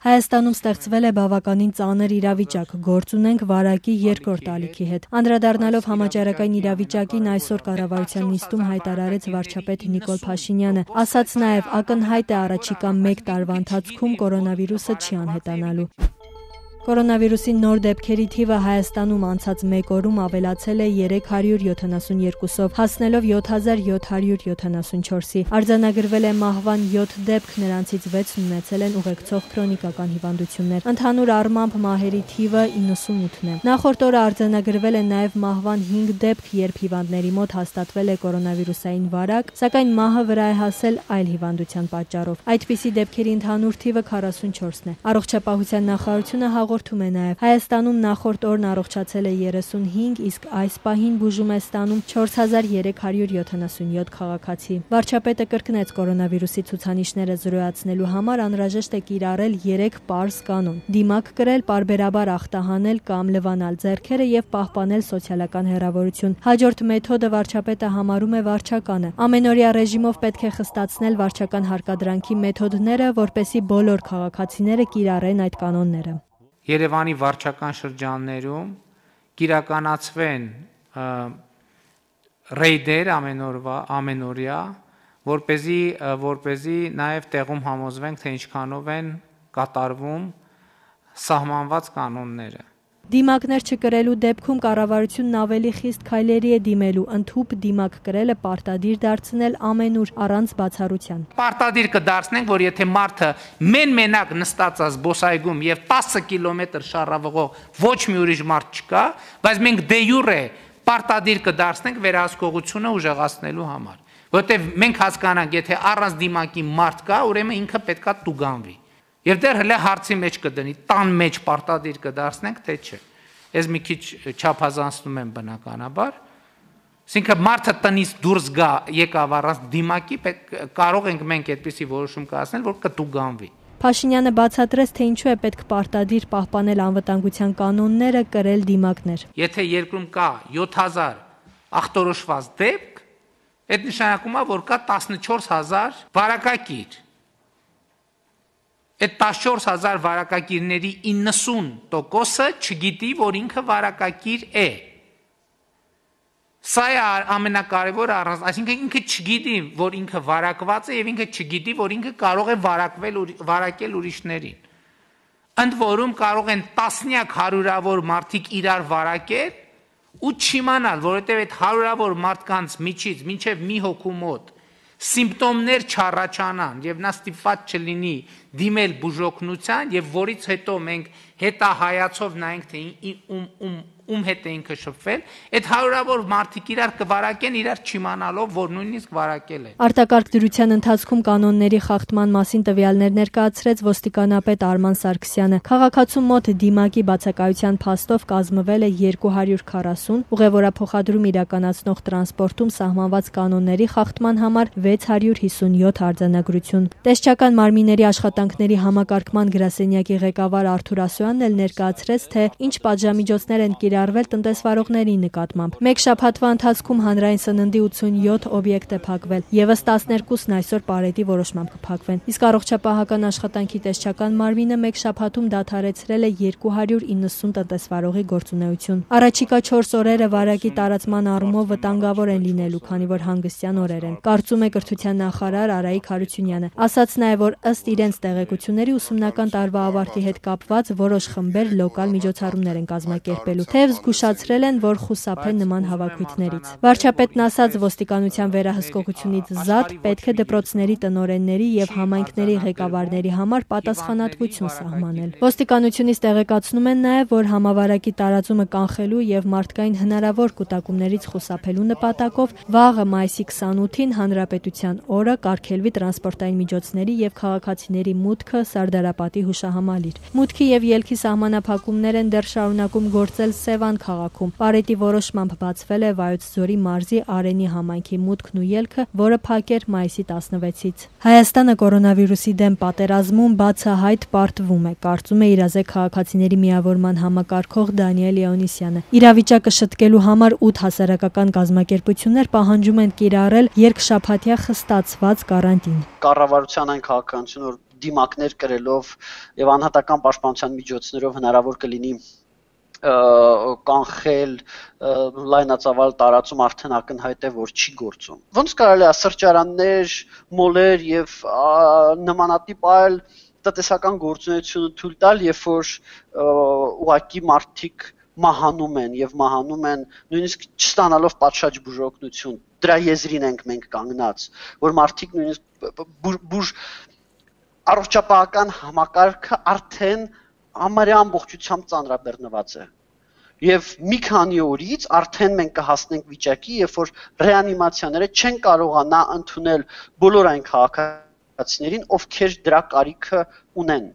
Հայաստանում ստեղծվել է բավականին ծանր իրավիճակ, գործ ունենք վարակի երկրորդ ալիքի հետ։ Անդրադառնալով համաճարակային իրավիճակին այսօր կառավարության նիստում հայտարարեց վարչապետ Նիկոլ Փաշինյանը, ասաց նաև ակնհայտ է առաջիկա 1 տարվա ընթացքում կորոնավիրուսը չի անհետանալու։ Կորոնավիրուսի նոր դեպքերի թիվը Հայաստանում անցած 1 օրում ավելացել է 372-ով, հասնելով 7774-ի։ Արձանագրվել է մահվան 7 դեպք, նրանցից 6-ն ունեցել են ուղեկցող քրոնիկական հիվանդություններ։ Ընդհանուր առմամբ մահերի թիվը 98-ն է։ Նախորդ օրը արձանագրվել է նաև մահվան 5 դեպք, երբ հիվանդների մոտ հաստատվել է կորոնավիրուսային վարակ, սակայն մահը վրա է հասել այլ հիվանդության պատճառով։ Այդպիսի դեպքերի ընդհանուր թիվը 44-ն է։ Առողջապահության նախարարությունը հաղորդում է նաև Հայաստանում նախորդ օրն առողջացել է 35, իսկ այս պահին բուժում է ստանում 4377 քաղաքացի։ Վարչապետը կրկնեց կորոնավիրուսի ցուցանիշները զրոյացնելու համար անհրաժեշտ է կիրառել 3 պարզ կանոն՝ դիմակ կրել, պարբերաբար ախտահանել կամ լվանալ ձեռքերը եւ պահպանել սոցիալական հեռավորություն։ Հաջորդ մեթոդը վարչապետը համարում է վարչականը։ Ամենօրյա ռեժիմով պետք է խստացնել վարչական հարկադրանքի մեթոդները, որպեսզի բոլոր քաղաքացիները կիրառեն այդ կանոնները։ Երևանի վարչական շրջաններում կիրականացվեն ռեյդեր ամենօրյա, որպեսզի նաև տեղում համոզվենք, թե ինչքանով են կատարվում սահմանված կանոնները։ Դիմակներ չկրելու դեպքում կառավարությունն ավելի խիստ քայլերի է դիմելու, ընդհուպ դիմակ կրելը պարտադիր դարձնել ամենուր առանց բացառության։ Պարտադիր կդարձնենք, որ եթե մարդը մենակ նստած է զբոսայգում եւ 10 կիլոմետր շարավղով ոչ մի ուրիշ մարդ չկա, բայց մենք դե յուրե պարտադիր կդարձնենք վերահսկողությունը ուժեղացնելու համար, որովհետեւ մենք հասկանանք, եթե առանց դիմակի մարդ կա, ուրեմն ինքը պետքա տուգանվի։ Եվ դեռ հələ հարցի մեջ կդնի, տան մեջ պարտադիր կդարձնենք, թե չէ։ Ես մի քիչ չափազանցնում եմ բնականաբար։ Այսինքն մարդը տնից դուրս գա, եկավ առանց դիմակի, կարող ենք մենք այդպիսի որոշում կայացնել, որ կտուգանվի։ Փաշինյանը բացատրեց, թե ինչու է պետք պարտադիր պահպանել անվտանգության կանոնները, կրել դիմակներ։ Եթե երկրում կա 7000 ախտորոշված դեպք, այդ նշանակում է, որ կա 14000 վարակագիր։ Այդ 14000 վարակագիրների 90%-ը չգիտի, որ ինքը վարակագիր է։ Սա է ամենակարևորը, այսինքն ինքը չգիտի, որ ինքը վարակված է եւ ինքը չգիտի, որ ինքը կարող է վարակել ուրիշներին։ Ընդ որում կարող են տասնյակ հարյուրավոր մարդիկ իրար վարակել ու չիմանալ, որովհետեւ այդ հարյուրավոր մարդկանց միջից մինչեւ մի հոգու մոտ սիմպտոմներ չառաջանան եւ նա ստիպված չլինի դիմել բուժօգնության եւ որից հետո մենք հետահայացով նայենք թե ում հետ է ինքը շփվել, այդ հարյուրավոր մարդիկ իրար կվարակեն իրար չիմանալով, որ նույնիսկ վարակել են։ Արտակարգ դրության ընթացքում կանոնների խախտման մասին տվյալներ ներկայացրեց ոստիկանապետ Արման Սարգսյանը։ Քաղաքացու մոտ դիմակի բացակայության փաստով կազմվել է 240, ուղևորափոխադրում իրականացնող տրանսպորտում սահմանված կանոնների խախտման համար 657 արձանագրություն։ Տեսչական մարմինների աշխատանքների համակարգման գրասենյակի ղեկավար Արթուր Ասոյանն էլ ներկայացրեց, թե ինչ պատժամիջոցներ են կիրառվել տնտեսվարողների նկատմամբ։ Մեկ շաբաթվա ընթացքում հանրային սննդի 87 օբյեկտ է փակվել, եւս 12-ն այսօր պարետի որոշմամբ կփակվեն։ Իսկ առողջապահական աշխատանքի տեսչական մարմինը մեկ շաբաթում դադարեցրել է 290 տնտեսվարողի գործունեություն։ Առաջիկա 4 օրերը վարակի տարածման առումով վտանգավոր են լինելու, քանի որ հանգստյան օրեր են, կարծում է կրթության նախարար Արայիկ Հարությունյանը։ Ասաց նաեւ, որ ըստ իրենց տեղեկությունների ուսումնական տարվա ավարտի հետ կապված որոշ խմբեր լոկալ միջոցառումներ են կազմակերպելու, թեև զգուշացրել են, որ խուսափեն նման հավաքույթներից։ Վարչապետն ասաց, ոստիկանության վերահսկողությունից զատ պետք է դպրոցների տնօրենների եւ համայնքների ղեկավարների համար պատասխանատվություն սահմանել։ Ոստիկանությունից տեղեկացնում են նաեւ, որ համավարակի տարածումը կանխելու եւ մարդկային հնարավոր կուտակումներից խուսափելու նպատակով վաղը մայիսի 28-ին Հանրապետության օրը կարգելվի տրանսպորտային միջոցների եւ քաղաքացիների մուտքը Սարդարապատի հուշահամալիր։ Մուտքի եւ ելքի սահմանափակումներ են դեռ շարունակում գործել Սևան քաղաքում։ Պարետի որոշմամբ բացվել է Վայոց ձորի մարզի Արենի համայնքի մուտքն ու ելքը, որը փակեր մայիսի 16-ից։ Հայաստանը կորոնավիրուսի դեմ պատերազմում բացահայտ պարտվում է, կարծում է իրազեկ քաղաքացիների միավորման համակարգող Դանիել Լեոնիսյանը։ Իրավիճակը շտկելու համար 8 հասարակական կազմակերպություններ պահանջում են կիրառել երկշաբաթյա խստացված կարանտին։ Կառավարության այն քաղաքականությունը, որ դիմակներ կրելով եւ անհատական պաշտպանության միջոցներով հնարավոր կլինի կանխել լայնածավալ տարածում արդեն ակնհայտ է որ չի գործում ոնց կարելի է սրճարաններ մոլեր եւ նմանատիպ այլ տնտեսական գործունեություն թույլ տալ երբ որ ուղակի մարդիկ մահանում են եւ մահանում են նույնիսկ չստանալով պատշաճ բուժօգնություն դրա եզրին ենք մենք կանգնած որ մարդիկ նույնիսկ առողջապահական համակարգը արդեն համարյա ամբողջությամբ ծանրաբեռնված է եւ մի քանի օրից արդեն մենք կհասնենք վիճակի երբ որ ռեանիմացիաները չեն կարողանա ընդունել բոլոր այն քաղաքացիներին ովքեր դրա կարիքը ունեն